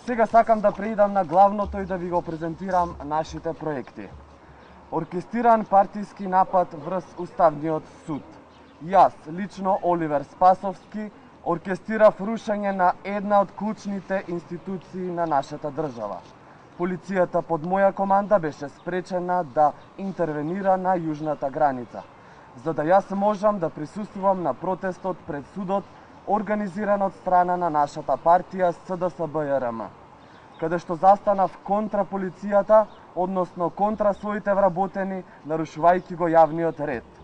Сега сакам да преидам на главното и да ви го презентирам нашите проекти. Оркестриран партиски напад врз Уставниот суд. Јас, лично Оливер Спасовски, оркестрирав рушење на една од клучните институции на нашата држава. Полицијата под моја команда беше спречена да интервенира на јужната граница, за да јас можам да присуствувам на протестот пред судот, организиран од страна на нашата партија СДСБ-РМ, каде што застанав контра полицијата, односно контра своите вработени, нарушувајќи го јавниот ред.